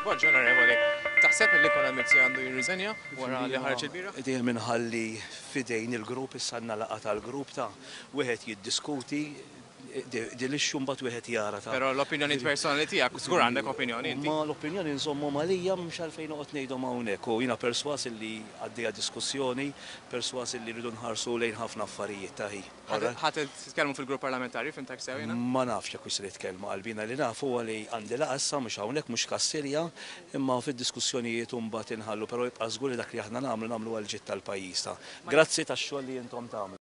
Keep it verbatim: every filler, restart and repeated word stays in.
Bonġu, onorevoli. Taħseb li Konrad Mizzi għandu jirriżenja wara li ħareġ il-bieraħ? Dejjem inħalli f'idejn il-grupp, issa għandna laqgħa tal-grupp ta' wieħed jiddiskuti dil-issue, mbagħad wieħed jara ta' Però l-opinjoni personali tiegħek, żgur għandek opinjoni inti. Ma l-opinjoni nżommu malija, mhux għalfejn noqgħod ngħidhom hawnhekk, u jiena perswas li għaddejja diskussjoni, perswas li rridu nħarsu lejn ħafna affarijiet ta' hi. Ħa titkellmu fil-grupp parlamentari, fhimtek sew jiena? Ma nafx jekk se nitkellmu qalbina. Li nafu huwa li għandi laqgħa issa, mhux hawnhekk, mhux Kastilja, imma fid-diskussjonijiet mbagħad inħallu, però jibqa' żgur li dak li aħna nagħmlu, nagħmlu għal ġid tal-pajjiż ta'. Grazzi tax-xogħol li intom tagħmlu.